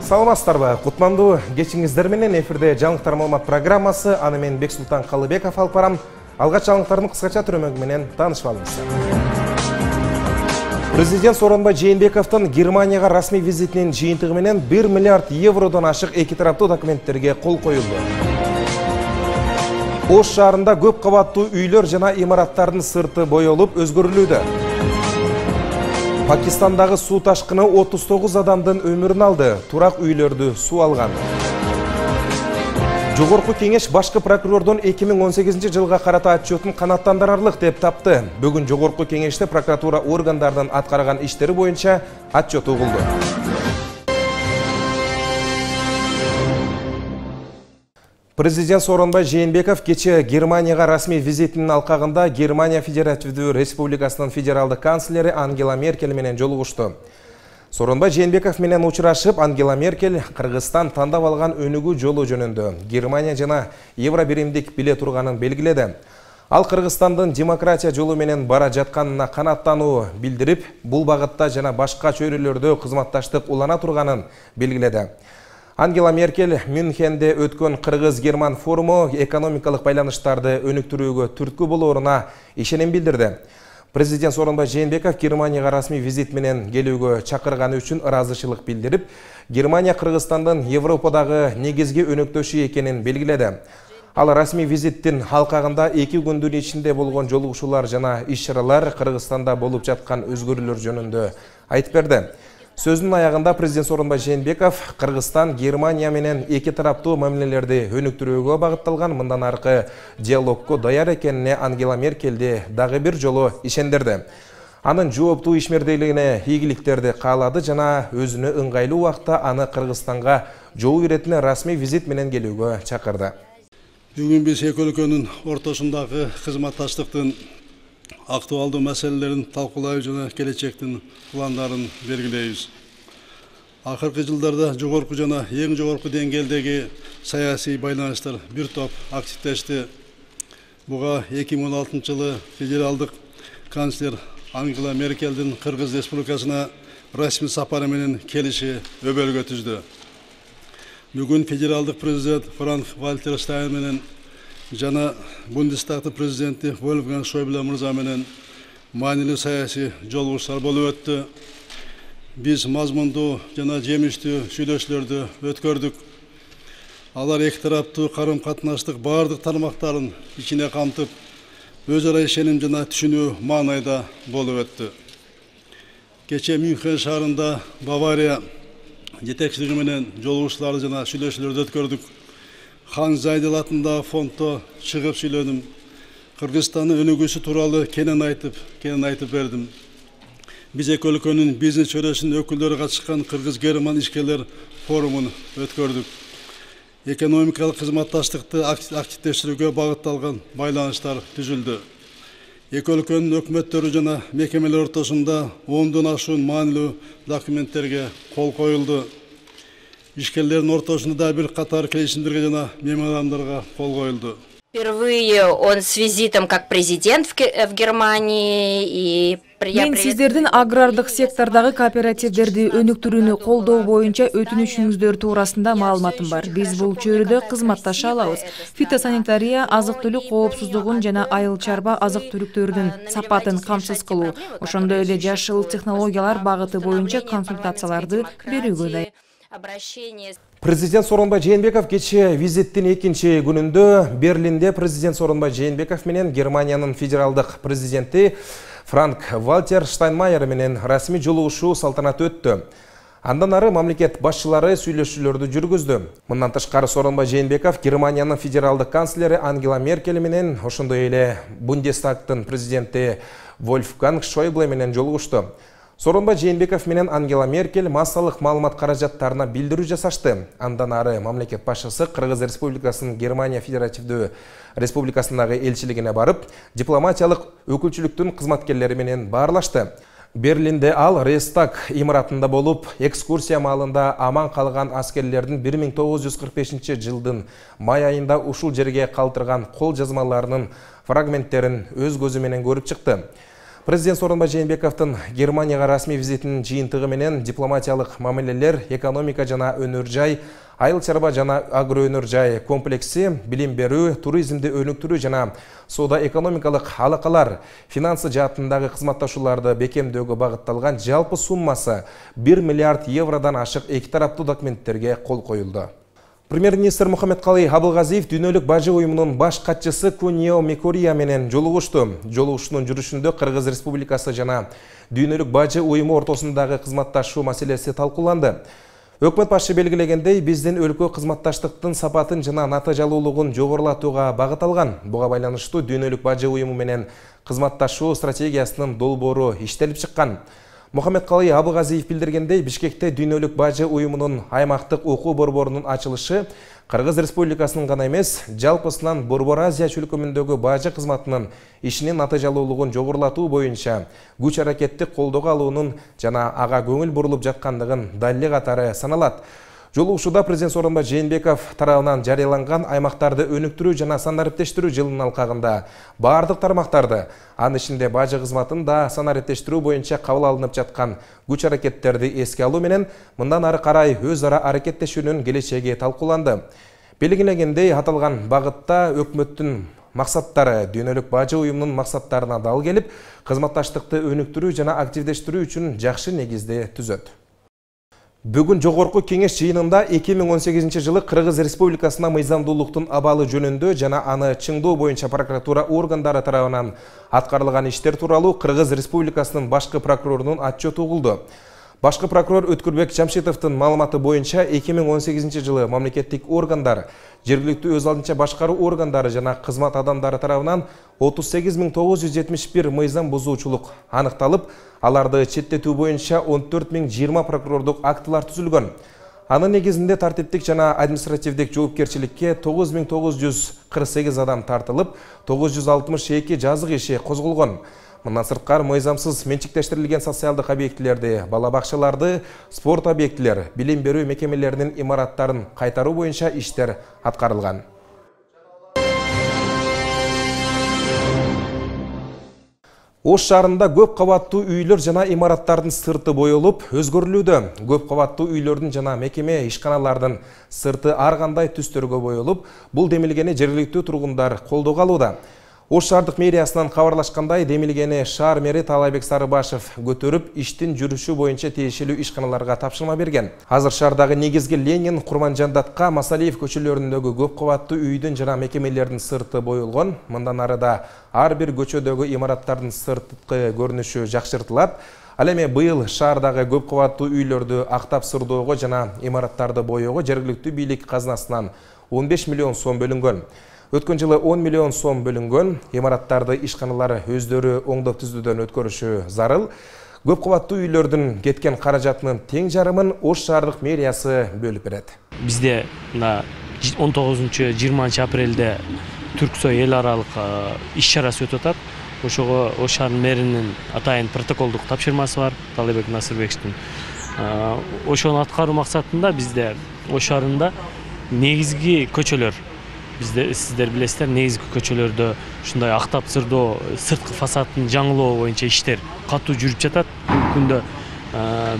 Саламатсыздарбы, кутмандуу кечиңиздер менен эфирде жаңылыктар маалымат программасы. Аны мен Бексултан Калыбеков алып барам. Алгач жаңылыктардын кыскача түрөмөгү менен таанышып алыңыз. Президент Сооронбай Жээнбековдун Германияга расмий визитинин жыйынтыгы менен 1 миллиард евродон ашык эки тараптуу документтерге кол коюлду. Ош шаарында көп кабаттуу үйлөр жана имараттардын сырты боелуп өзгөрүлүүдө. Пакистандагы суу ташкыны 39 адамдын өмүрүн алды, турак үйлөрдү суу алган. Жогорку кеңеш башкы прокурордун 2018 жылга карата отчетун канааттандырарлык деп тапты. Бүгүн Жогорку кеңеште прокуратура органдарынын аткарган иштери боюнча отчет угулду. Президент Сооронбай Жээнбеков кече Германияга расмий визитинин алкагында Германия Федеративдүү Республикасынын федералдык канцлери Ангела Меркель менен жолугушту. Сооронбай Жээнбеков менен учурашып, Ангела Меркель Кыргызстан тандап алган өнүгүү жолу жөнүндө Германия жана Евробиримдик биле турганын белгиледи. Ал Кыргызстандын демократия жолу менен бара жатканына канааттануу билдирип, бул багытта жана башка чөйрөлөрдө кызматташтык улана турганын белгиледи. Ангела Меркель Мюнхенде өткөн Кыргыз-Герман форуму экономикалык байланыштарды өнүктүрүүгө түрткү болооруна ишеним билдирди. Президент Сооронбай Жээнбеков Германияга расмий визит менен келүүгө чакырганы үчүн ыраазычылык билдирип, Германия Кыргызстандын Европадагы негизги өнөктөшү экенин белгиледи. Ал расмий визиттин алкагында 2 күндүн ичинде болгон жолугушуулар жана иш-чаралар Кыргызстанда болуп жаткан өзгөрүүлөр жөнүндө айтып берди. Сөзүнүн аягында президент Сооронбай Жээнбеков Кыргызстан Германия менен эки тараптуу мамилелерди өнүктүрүүгө багытталган мындан аркы диалогко даяр экенине Ангела Меркельди дагы бир жолу ишендирди. Анын жооптуу ишмердүүлүгүнө ийгиликтерди каалады жана өзүнө ыңгайлуу убакта аны Кыргызстанга жол иретине расмий визит менен келүүгө чакырды. Бүгүн биз эки өлкөнүн ортосундагы кызматташтыктын актуалдуу маселелерин талкуулайбыз жана келечектин пландарын белгилейбиз. Акыркы жылдарда жогорку жана эң жогорку деңгээлдеги саясий байланыштар бир топ активдешти. Буга 2016 жылы федералдык канцлер Ангела Меркельдин Кыргыз Республикасына расмий сапары менен келиши өбөлгө түздү. Бүгүн федералдык президент Франк-Вальтер Штайнмайер жана Бундестагтын президенти Вольфганг Шойбле мырза менен маанилүү саясий жолугушуулар болуп өттү. Биз мазмундуу жана жемиштүү сүйлөшүүлөрдү өткөрдүк. Алар эки тараптуу карым-катнаштык бардык тармактарын ичине камтып, өз ара ишеним жана түшүнүү маанайда болуп өттү. Кече Мюнхен шаарында Бавария жетекчилиги менен жолугушууларды жана сүйлөшүүлөрдү өткөрдүк. Хан Зайдел атындагы фонддо чыгып сүйлөдүм. Кыргызстандын өнүгүүсү тууралуу кенен айтып бердим. Биз эки өлкөнүн бизнес чөйрөсүнүн өкүлдөрү катышкан Кыргыз-Герман ишкерлер форумун өткөрдүк. Экономикалык кызматташтыкты активдештирүүгө багытталган байланыштар түзүлдү. Эки өлкөнүн өкмөттөрү жана мекемелер ортосунда 10дон ашуун маанилүү документтерге кол коюлду. Ишкерлердин ортосунда бир катар келишимдерге жана меморандумдарга кол коюлду. Впервые он с визитом как президент в Германии и Мен сиздердин агрардык сектордагы кооперативдерди өнүктүрүүнү колдоо боюнча өтүнүшүңүздөр туурасында маалыматым бар. Биз бул чөйрөдө кызматташа алабыз. Фитосанитария, азык-түлүк коопсуздугун жана айыл чарба азык-түлүктөрдүн сапатын камсыз кылуу, ошондой эле жашыл технологиялар багыты боюнча консультацияларды берүүгө дайын. Президент Сооронбай Жээнбеков кече визиттин экинчи күнүндө Берлинде президент Сооронбай Жээнбеков менен Германиянын федералдык президенти Франк-Вальтер Штайнмайер менен расмий жолугушуу салтанаты өттү. Андан ары мамлекет башчылары сүйлөшүүлөрдү жүргүздү. Мындан тышкары Сооронбай Жээнбеков Германиянын федералдык канцлери Ангела Меркель менен ошондой эле Бундестагтын президенти Вольфганг Шойбле менен жолугушту. Сооронбай Жээнбеков менен Ангела Меркель массалык маалымат каражаттарына билдирүү жасашты. Андан ары мамлекет башчысы Кыргыз Республикасынын Германия Федеративдүү Республикасындагы элчилигине барып, дипломатиялык өкүлчүлүктүн кызматкерлери менен баарлашты. Берлинде ал Рейхстаг имаратында болуп, экскурсия маалында аман калган аскерлердин 1945 жылдын май айында ушул жерге калтырган кол жазмаларынын фрагменттерин өз көзү менен көрүп чыкты. Президент Сооронбай Жээнбековдун Германияга расмий визитинин жыйынтыгы менен дипломатиялык мамилелер, экономика жана өнөр жай, айыл чарба жана агроөнөр жай комплекси, билим берүү, туризмди өнүктүрүү жана соода экономикалык алакалар, финансы жаатындагы кызматташууларды бекемдөөгө багытталган жалпы суммасы 1 миллиард евродон ашык эки тараптуу документтерге кол коюлду. Премьер-министр Мухаммедкалый Абылгазиев Дүйнөлүк бажы уюмунун баш катчысы Кунио Микурия менен жолугушту. Жолугушуунун жүрүшүндө Кыргыз Республикасы жана Дүйнөлүк бажы уюму ортосундагы кызматташуу маселеси талкууланды. Өкмөт башы белгилегендей, биздин өлкө кызматташтыктын сапатын жана натыйжалуулугун жогорулатууга багыт алган. Буга байланыштуу Дүйнөлүк бажы уюму менен кызматташуу стратегиясынын долбоору иштелип чыккан. Мухаммедкалый Абылгазиев билдиргендей, Бишкекте Дүйнөлүк бажы уюмунун аймактык окуу борборунун ачылышы Кыргыз Республикасынын гана эмес, жалпысынан Борбор Азия чөлкөмүндөгү бажы кызматынын ишинин натыйжалуулугун жогорулатуу боюнча күч аракетти колдоого алуунун жана ага көңүл бурулуп жаткандыгын далили катары саналат. Жолугушууда президент Сооронбай Жээнбеков тарабынан жарыяланган аймактарды өнүктүрүү жана санариптештирүү жылынын алкагында бардык тармактарды, анын ичинде бажы кызматын да санариптештирүү боюнча кабыл алынып жаткан күч аракеттерди эске алуу менен мындан ары карай өз ара аракеттешүүнүн келечеги талкууланды. Белгилегендей, аталган багытта өкмөттүн максаттары Дүйнөлүк бажы уюмунун максаттарына дал келип, кызматташтыкты өнүктүрүү жана активдештирүү үчүн жакшы негизди түзөт. Бүгүн жогорку кеңеш жыйынында 2018 жылы Кыргыз Республикасына мыйзамдуулуктун абалы жөнүндө жана аны чыңдоо боюнча прокуратура органдары тарабынан аткарылган иштер тууралуу Кыргыз Республикасынын башкы прокурорунун отчету угулду. Башкы прокурор Өткүрбек Жамшитовдун маалыматы боюнча 2018 жылы мамлекеттик органдар, жергиликтүү өз алдынча башкаруу органдары жана кызмат адамдары тарабынан 38.971 мыйзам бузуучулук аныкталып, аларды четтетүү боюнча 14.020 прокурордук актылар түзүлгөн. Анын негизинде тартиптик жана административдик жоопкерчиликке 9.948 адам тартылып, 962 жазык иши козголгон. Мындан сырткары мыйзамсыз менчиктештирилген социалдык объектилерди, бала бакчаларды, спорт объектилер, билим берүү мекемелеринин имараттарын кайтаруу боюнча иштер аткарылган. Ош шаарында көп кабаттуу үйлөр жана имараттардын сырты боелуп, өзгөрүлүүдө. Көп кабаттуу үйлөрдүн жана мекеме ишканалардын сырты ар кандай түстөргө боелуп, бул демилгени жергиликтүү тургундар колдоого алууда. Ош шаардык мэриясынан кабарлашкандай, демилгени шаар мэри Таалайбек Сарыбашев көтөрүп, иштин жүрүшү боюнча тиешелүү ишканаларга тапшырма берген. Азыр шаардагы негизги Ленин, Курманжандатка, Масалиев көчөлөрүндөгү көп кабаттуу үйдүн жана мекемелердин сырты боелгон. Мындан арыда ар бир көчөдөгү имараттардын сырткы көрүнүшү жакшыртылат. Ал эми быйыл шаардагы көп кабаттуу үйлөрдү актап сырдоого жана имараттарды боеого жергиликтүү бийлик казынасынан 15 миллион сом бөлүнгөн. Өткөн жылы 10 миллион сом бөлүнгөн. Имараттарды ишканалары өздөрү оңдоп түзүүдөн өткөрүшү зарыл. Көп кабаттуу үйлөрдүн кеткен каражатынын тең жарымын Ош шаардык мэриясы бөлүп берет. Бизде 19-20 апрелде Түрксой эл аралык иш чарасы өтүп атат. Ошого Ош шаарынын мэринин атайын протоколдук тапшырмасы бар, Таалайбек Насырбековдун. Ошону аткаруу максатында бизде Ош шаарында негизги көчөлөр, сиздер билесиздер, негизги көчөлөрдө ушундай актап сырдоо, сырткы фасадын жаңылоо боюнча иштер катуу жүрүп жатат.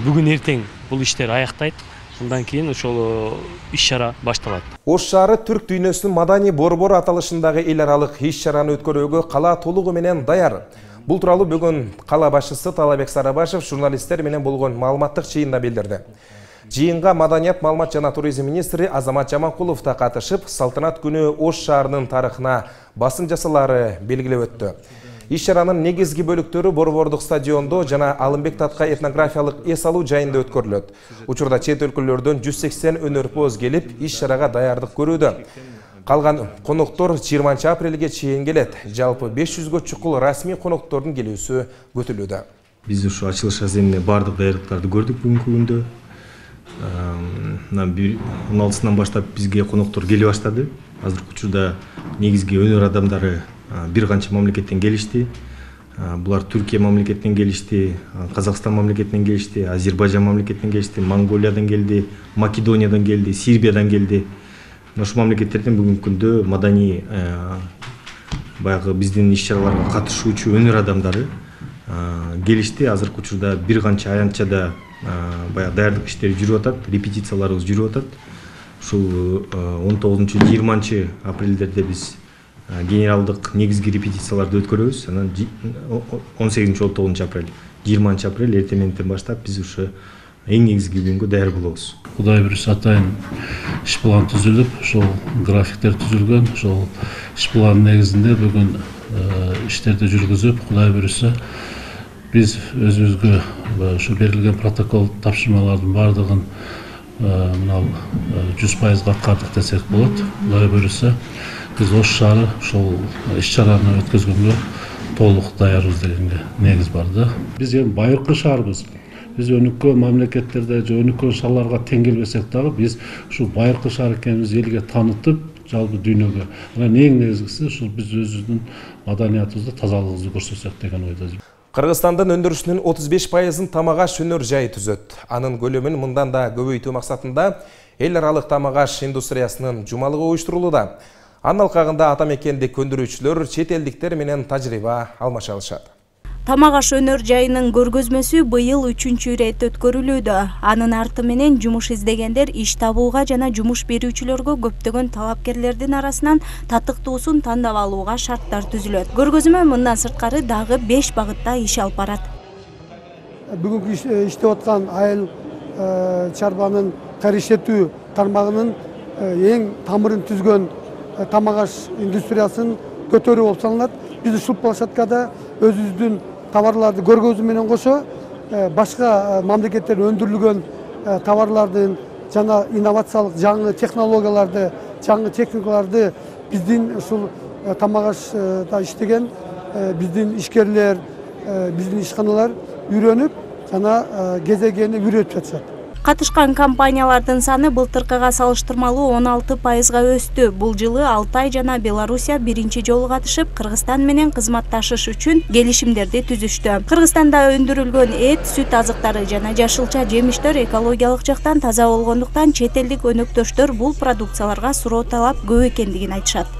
Бүгүн эртең бул иштер аяктайт. Андан кийин ошол иш-чара башталат. Ош шаары түрк дүйнөсүнүн маданий борбору аталышындагы эл аралык иш-чараны өткөрүүгө кала толугу менен даяр. Бул тууралуу бүгүн кала башчысы Таалайбек Сарыбашев журналисттер менен болгон маалыматтык жыйында билдирди. Жыйынга маданият, маалымат жана туризм министри Азамат Жаманкулов да катышып, салтанат күнү Ош шаарынын тарыхына басым жасалары белгилеп өттү. Иш-чаранын негизги бөлүктөрү Борбордук стадиондо жана Алымбек Татка этнографиялык эс алуу жайында өткөрүлөт. Учурда чет өлкөлөрдөн 180 өнөрпоз келип, иш-чарага даярдык көрүүдө. Калган коноктор 20 апрелге чейин келет. Жалпы 500гө чукул расмий коноктордун келүүсү күтүлүүдө. Биз ушу ачылыш аземине бардык даярдыктарды көрдүк бүгүнкү күндө. 16-сынан баштап бизге коноктор келе баштады. Азыркы учурда негизги өнөр адамдары бир канча мамлекеттен келишти. Булар Түркия мамлекетинен келишти, Казакстан мамлекетинен келишти, Азербайжан мамлекетинен келишти, Монголиядан келди, Македониядан келди, Сербиядан келди. Ошол мамлекеттерден бүгүнкү күндө маданий баягы биздин иш-чараларга катышуучу өнөр адамдары келишти. Азыркы учурда бир канча аянтчада баягы даярдык иштери жүрүп атат, репетицияларыбыз жүрүп атат. Ушул 19-20 апрелдерде биз генералдык негизги репетицияларды өткөрөбүз. Анан 18-19 апрель, 20 апрель эртең мененден баштап биз ушу эң негизги күнгө даяр болобуз. Кудай буюрса атайын иш план түзүлүп, ошол графиктер түзүлгөн, ошол иш план негизинде бүгүн иштерди жүргүзүп, Кудай буюрса биз өзүбүзгө ушу берилген протокол тапшырмалардын бардыгын мына 100% аткардык десек болот. Кудай буюрса биз Ош шаары ошол иш-чараны өткөзгөнгө толук даярбыз дегенге негиз бар да. Биз эми байыркы шаарбыз. Биз өнүккөн мамлекеттерде же өнүккөн шаарларга тең келбесек дагы биз ушул байыркы шаар экенибизди элге таанытып, жалпы дүйнөгө. Анан эң негизгиси ушул биз өзүбүздүн маданиятыбызды, тазалыгыбызды көрсөтсөк деген ойдо. Кыргызстандын өндүрүшүнүн 35%-ын тамак аш өнөр жайы түзөт. Анын көлөмүн мындан да көбөйтүү максатында эл аралык тамак аш индустриясынын жумалыгы уюштурулууда. Анын алкагында ата мекендик өндүрүүчүлөр чет элдиктер менен тажрыйба алмаша алышат. Тамак аш өнөр жайынын көргөзмөсү быйыл 3-чү ирет өткөрүлүүдө. Анын арты менен жумуш издегендер иш табууга жана жумуш берүүчүлөргө көптөгөн талапкерлердин арасынан татыктуусун тандап алууга шарттар түзүлөт. Көргөзмө мындан сырткары дагы 5 багытта иш алып барат. Бүгүнкү иштеп аткан айыл чарбанын кайра иштетүү тармагынын эң тамырын түзгөн тамак аш индустриясын көтөрүү болуп саналат. Биз ушул площадкада өзүбүздүн товарларды көргөзүү менен кошо башка мамлекеттерде өндүрүлгөн товарлардын жана инновациялык жаңы технологияларды, жаңы техникаларды биздин ушул тамак ашта иштеген биздин ишкерлер, биздин ишканалар үйрөнүп жана кезегени үйрөтүп жатышат. Катышкан компаниялардын саны былтыркыга салыштырмалуу 16%-га өстү. Бул жылы Алтай жана Белоруссия биринчи жолу катышып, Кыргызстан менен кызматташыш үчүн келишимдерди түзүштү. Кыргызстанда өндүрүлгөн эт, сүт азыктары жана жашылча жемиштер экологиялык жактан таза болгондуктан чет элдик өнөктөштөр бул продукцияларга суроо талап көп экендигин айтышат.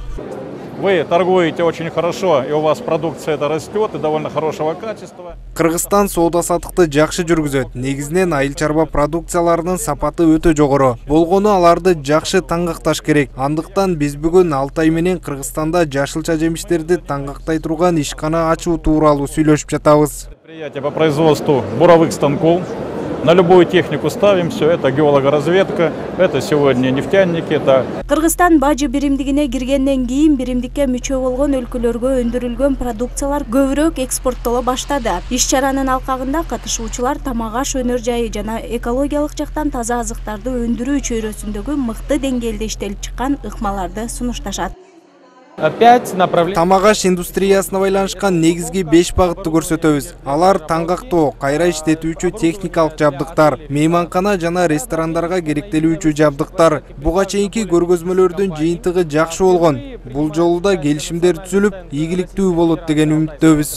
Вы торгуете очень хорошо, и у вас продукция это растет, и довольно хорошего качества. Кыргызстан соода-саттыкты жакшы жүргүзөт. Негизинен айыл чарба продукцияларынын сапаты өтө жогору. Болгону аларды жакшы таңгакташ керек. Андыктан биз бүгүн Алтай менен Кыргызстанда жашылча жемиштерди таңгактай турган ишкана ачуу тууралуу сүйлөшүп жатабыз. Предприятие по производству буровых станков. На любую технику ставим, все это геологоразведка, это сегодня нефтяники, это... Кыргызстан бажы биримдигине киргенден кийин биримдикке мүчө болгон өлкөлөргө өндүрүлгөн продукциялар көбүрөөк экспорттоло баштады. Иш-чаранын алкагында катышуучулар тамак аш өнөр жайы жана экологиялык жактан таза азыктарды өндүрүү чөйрөсүндөгү мыкты деңгээлде иштелип чыккан ыкмаларды сунушташат. Тамак аш индустриясына байланышкан негизги 5 багытты көрсөтөбүз. Алар таңгактоо, кайра иштетүүчү техникалык жабдыктар, мейманкана жана ресторандарга керектелүүчү жабдыктар. Буга чейинки көргөзмөлөрдүн жыйынтыгы жакшы болгон. Бул жолу да келишимдер түзүлүп, ийгиликтүү болот деген үмүттөбүз.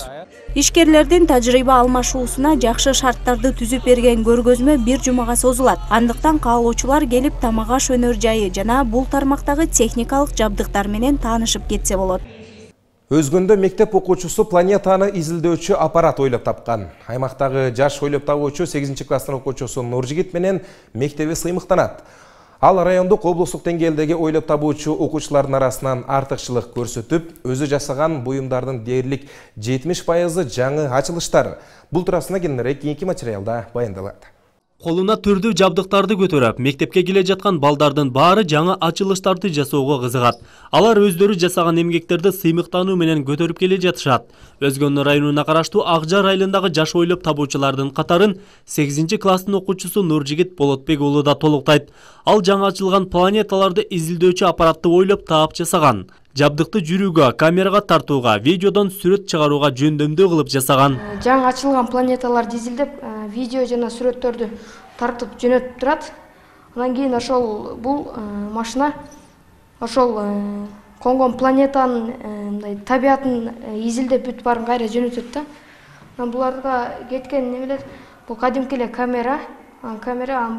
Ишкерлердин тажрыйба алмашуусуна жакшы шарттарды түзүп берген көргөзмө 1 жумага созулат. Андыктан каалоочулар келип тамак аш өнөр жайы жана бул тармактагы техникалык жабдыктар менен таанышып кетсе болот. Өзгөндө мектеп окуучусу планетаны изилдөөчү аппарат ойлоп тапкан. Аймактагы жаш ойлоп табуучу 8-класстын окуучусу Нуржигит менен мектеби сыймыктанат. Ал райондук облустук деңгээлдеги ойлоп табуучу окуучулардын арасынан артыкчылык көрсөтүп, өзү жасаган буюмдардын дээрлик 70% жаңы ачылыштар. Бул туурасында кененирээк кийинки материалда баяндалат. Колуна түрдүү жабдыктарды көтөрүп, мектепке келе жаткан балдардын баары жаңы ачылыштарды жасоого кызыгат. Алар өздөрү жасаган эмгектерди сыймыктануу менен көтөрүп келе жатышат. Өзгөн районуна караштуу Акжар айылындагы жаш ойлоп табуучулардын катарын 8-класстын окуучусу Нуржигит Болотбек уулу да толуктайт. Ал жаңы ачылган планеталарды изилдөөчү аппаратты ойлоп таап жасаган. Жабдыкты жүрүүгө, камерага тартууга, видеодон сүрөт чыгарууга жөндөмдүү кылып жасаган. Жаңы ачылган планеталарды изилдеп, видео жана сүрөттөрдү тартып жөнөтүп турат. Андан кийин ошол бул машина ошол конгон планетанын мындай табиатын изилдеп бүт баарын кайра жөнөтөт да. Анан буларга кеткен немелер бул кадимки эле камера,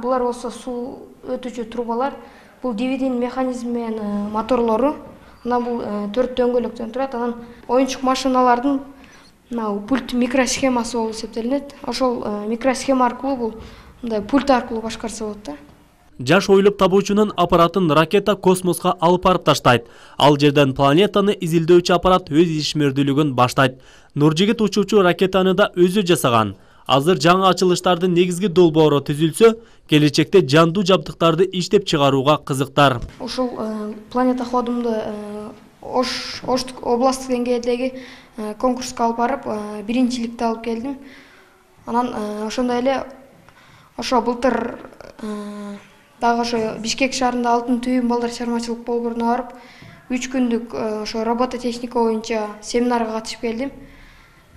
булар болсо суу өтүүчү трубалар, бул DVD механизми менен моторлору. Анан бул 4 дөңгөлөктөн турат. Анан оюнчук машиналардын мына пульт микросхемасы болуп эсептелинет. Ошол микросхема аркылуу бул мындай пульт аркылуу башкарса болот да. Жаш ойлоп табуучунун аппаратын ракета космоско алып барып таштайт. Ал жерден планетаны изилдөөчү аппарат өз ишмердүүлүгүн баштайт. Нуржигит учуучу ракетаны да өзү жасаган. Азыр жаңы ачылыштардын негизги долбоору түзүлсө, келечекте жандуу жабдыктарды иштеп чыгарууга кызыктар. Ушул планета ходумду Ош областтык деңгээлдеги конкурска алып барып, биринчиликти алып келдим. Анан ошондой эле ошо былтыр дагы ошо Бишкек шаарында алтын түйүн балдар чыгармачылык болборуна барып, 3 күндүк ошо робототехника боюнча семинарга катышып келдим.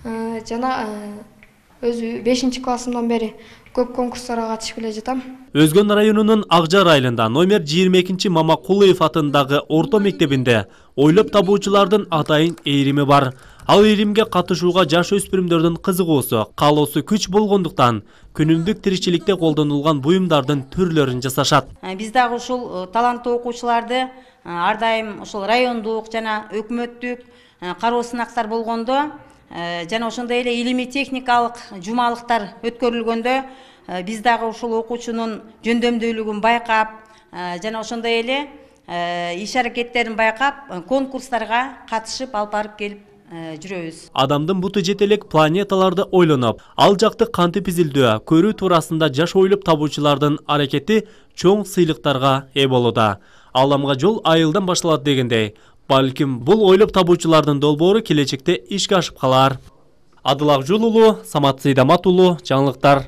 Жана өзү 5-классымдан бери көп конкурстарга катышып келе жатам. Өзгөн районунун Акжар айылында номер 22 Мамакулуев атындагы орто мектебинде ойлоп табуучулардын атайын эйрими бар. Ал эйримге катышууга жаш өспүрүмдөрдүн кызыгуусу, каалоосу күч болгондуктан күнүмдүк тиричиликте колдонулган буюмдардын түрлөрүн жасашат. Биз дагы ушул таланттуу окуучуларды ар дайым ушул райондук жана өкмөттүк кароо сынактар болгондо жана ошондой эле илимий техникалык жумалыктар өткөрүлгөндө биз дагы ушул окуучунун жөндөмдүүлүгүн байкап жана ошондой эле иш аракеттерин байкап конкурстарга катышып алып барып келип жүрөбүз. Адамдын буту жете элек планеталарды ойлоноп, ал жакты кантип изилдөө, көрүү туурасында жаш ойлоп табуучулардын аракети чоң сыйлыктарга ээ болууда. Аламга жол айылдан башталат дегендей, балким бул ойлоп табуучулардын долбоору келечекте ишке ашып калар. Адыл Акжол уулу, Самат Сейдамат уулу, жаңылыктар.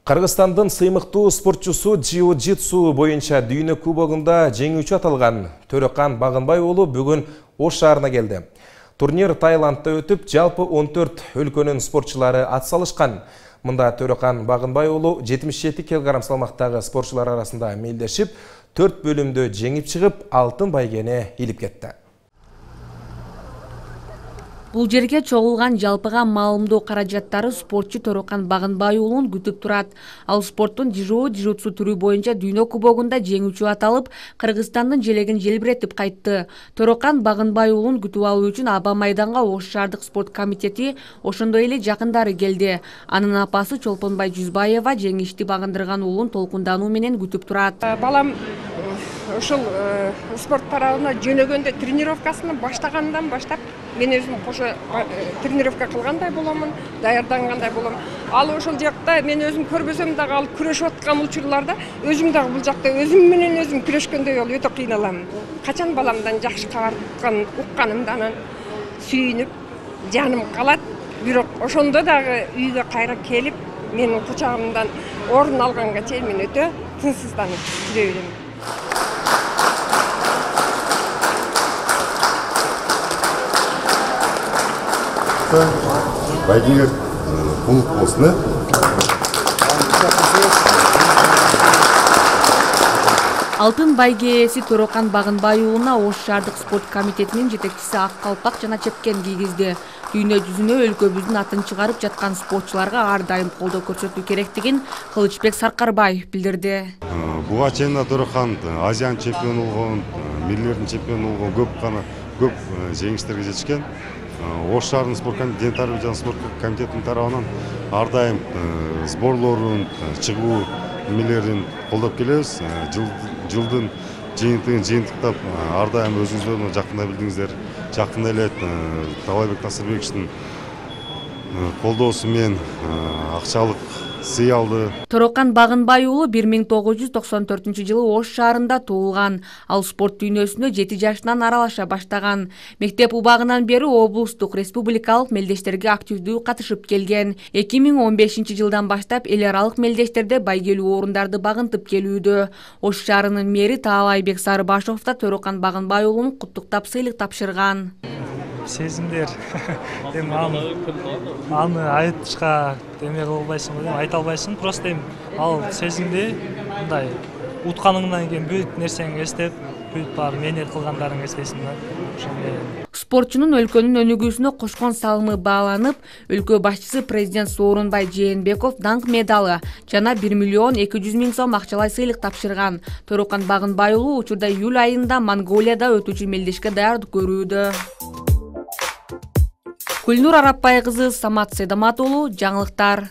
Кыргызстандын сыймыктуу спортчусу джиу-джитсу боюнча дүйнө кубогунда жеңүүчү аталган Төрөкан Багынбай уулу бүгүн Ош шаарына келди. Турнир Таиландда өтүп, жалпы 14 өлкөнүн спортчулары атсалышкан. Мында Төрөкан Багынбай уулу 77 кг салмактагы спортчулар арасында мелдешип, 4 бөлүмдө жеңип чыгып, алтын байгени илип кетти. Бул жерге чогулган жалпыга маалымдоо каражаттары спортчу Төрөкан Багынбай уулун күтүп турат. Ал спорттун джиу-джитсу түрү боюнча дүйнө кубогунда жеңүүчү аталып, Кыргызстандын желегин желбиретип кайтты. Төрөкан Багынбай уулун күтүп алуу үчүн аба майданга Ош шаардык спорт комитети, ошондой эле жакындары келди. Анын апасы Чолпонбай Жүзбаева жеңишти багындырган уулун толкундануу менен күтүп турат. Балам ушул спорт тарабына жөнөгөндө тренировкасына баштагандан баштап мен өзүм кошо тренировка кылгандай боломун, даярдангандай болом. Ал ошол жакта мен өзүм көрбөсөм дагы ал күрөшүп аткан учурларда өзүм дагы бул жакта өзүм менен өзүм күрөшкөндөй болуп өтө кыйналам. Качан баламдан жакшы кабар укканымда анан сүйүнүп жаным калат. Бирок ошондо дагы үйгө кайра келип менин кучагымдан орун алганга чейин мен өтө тынчсызданып жүрө берем. Байгеге кулук болсун. Алтын байге ээси Төрөкан Багынбай уулуна Ош шаардык спорт комитетинин жетекчиси ак калпак жана чепкен кийгизди. Дүйнө жүзүнө өлкөбүздүн атын чыгарып жаткан спортчуларга ар дайым колдоо көрсөтүү керектигин Кылычбек Саркарбаев билдирди. Буга чейин Төрөкан Азиянын чемпиону болгон, миллилердин чемпиону болгон көп жеңиштерге жетишкен. Ош шаарынын спорт комитети, тарбия жана спорт комитетинин тарабынан ар дайым сборлорун, чыгуу немелерин колдоп келебиз. Жылдын жыйынтыгын жыйынтыктап ар дайым өзүңүздөрдү жакында билдиңиздер. Жакында эле Талайбек Насырбековичтин колдоосу менен акчалык сый алды. Төрөкан Багынбай уулу 1994-жылы Ош шаарында туулган. Ал спорт дүйнөсүнө 7 жашынан аралаша баштаган. Мектеп убагынан бери облустук, республикалык мелдештерге активдүү катышып келген. 2015-жылдан баштап эл аралык мелдештерде байгелүү орундарды багынтып келүүдө. Ош шаарынын мэри Таалайбек Сарыбашов да Төрөкан Багынбай уулун куттуктап сыйлык тапшырган. Сезимдер аны айтышка эме кыла албайсың, айта албайсың. Просто ал сезимди мындай утканыңдан кийин бүт нерсеңи эстеп, бүт бар менет кылгандарыңды эстейсиң да. Ошондой. Спортчунун өлкөнүн өнүгүүсүнө кошкон салымы бааланып, өлкө башчысы президент Сооронбай Жээнбеков даңк медалы жана 1,2 миллион сом акчалай сыйлык тапшырган. Төрөкан Багынбай уулу учурда июль айында Монголияда өтүүчү мелдешке даярдык көрүүдө. Гүлнур Арапбай кызы, Самат Сейдамат уулу, жаңылыктар.